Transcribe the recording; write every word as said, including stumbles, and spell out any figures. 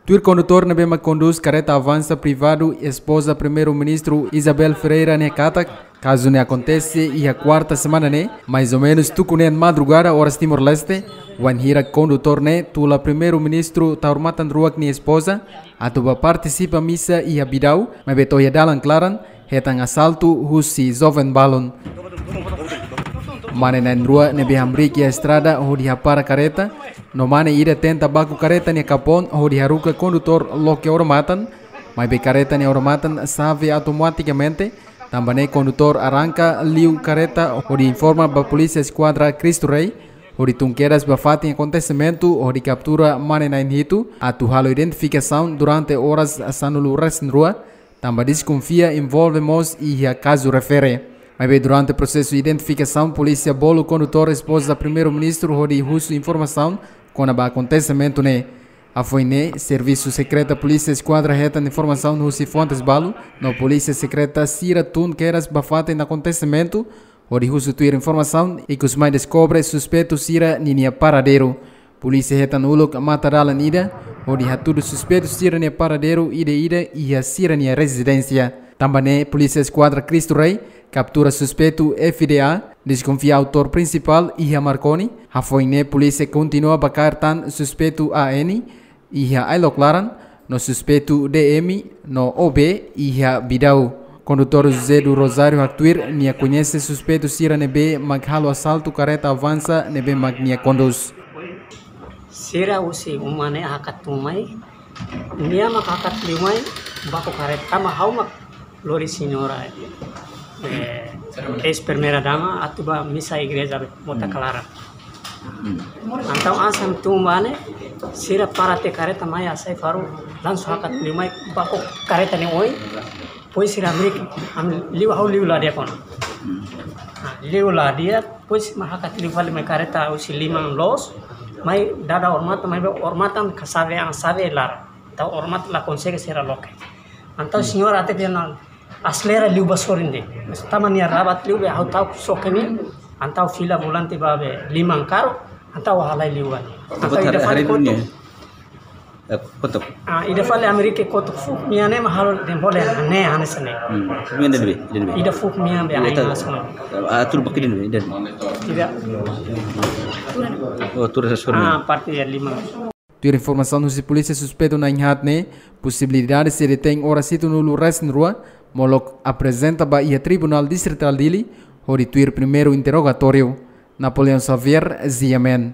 Tuir kondutór ne'ebé mak kondús kareta avansa privadu espoza Primeiru-Ministru Isabel Ferreira ne'e katak, kazu ne'e akontese iha kuarta semana ne'e, mais ou menus tuku neen madrugada oras Timor-Leste, wainhira kondutór ne'e tula Primeiru-Ministru Taur Matan Ruak nia espoza atu bá partisipa misa iha Bidau, maibé to'o iha dalan klaran hetan asaltu husi joven balun. Mane na'in-rua ne'ebé hamriik iha estrada hodi hapara kareta, no mane ida tenta baku kareta nia kapoun hodi haruka kondutór loke odamatan, maibé kareta nia odamatan xave automatikamente, tanba ne'e kondutór arranka liu kareta hodi informa ba Polísia Eskuadra Cristo Rei, hodi tun kedas ba fatin akontesimentu hodi kaptura mane na'in-hitu atu halo identifikasaun durante oras sanulu-resin-rua, tanba deskonfia envolve mós iha kazu refere. Maibé durante prosesu identifikasaun, polísia bolu kondutór espoza Primeiru-Ministru hodi husu informasaun kona-ba akontesimentu ne'e. Hafoin ne'e, Servisu Sekreta Polísia Eskuadra hetan informasaun husi fontes balu, no polísia sekreta sira tun kedas ba fatin akontesimentu, hodi husu tuir informasaun, ikus mai deskobre suspeitu sira ninia paradeiru. Polísia hetan uluk mata dalan ida, hodi hatudu suspeitu sira-nia paradeiru ida-ida iha sira-nia rezidénsia. Tanba ne'e, Polísia Eskuadra Cristo Rei kaptura suspeitu F D A, deskonfia autór prinsipál iha Marconi. Hafoin ne'e, polísia kontinua bá kaer tan suspeitu A N iha Ailok Laran, no suspeitu D M no O B iha Bidau. Kondutór José do Rosário haktuir nia koñese suspeitu sira ne'ebé mak halo asaltu kareta avansa ne'ebé mak nia kondús. Sira husi uma ne'e hakat tun mai, nia mak hakat liu mai baku kareta, tanba ha'u mak lori señora, eh, eis primeira dama atu bá misa igreja mota klaran. Entaun hanesan tun ba ne'e, sira para tiha kareta mai hasai faru, langsung hakat liu mai baku kareta nia oin, depois sira hamriik, hamriik liu, ha'u liu la di'ak ona. Ah, liu la di'ak, depois mak hakat liu fali mai kareta husi liman loos, mai dada odamatan, maibé odamatan ka xave, an xave laran. Entaun odamatan la konsege sira loke. Entaun señora atu bá ne'e aselera liu ba sorin de'it. Tanba nia rabat liu be ha'u ta'uk xoke nia. Entaun fila volante ba be liman karru. Entaun halai liu ba ne'e. Entaun ida fali kotuk. Eh, kotuk. Ah, ida fali hamriik kotuk fuuk mean ne'e mak halo dehan bolu ne'e hanesan ne'e. Hmm. Mean ida ne'ebé, ida ne'ebé. Ida fuuk mean be ain ita, alas ne'e. Ah, tuur ba ida ne'ebé, ida ne'ebé. Ida. Oh, tuur hanesan sorin. Ah, parte liman. Tuir informasaun husi polísia, suspeitu na'in-haat ne'e posibilidade sei detein oras hitunulu-resin-rua, molok aprezenta ba iha Tribunál Distritál Dili, hodi tuir primeiru interrogatóriu. Napoleão Xavier, G M N.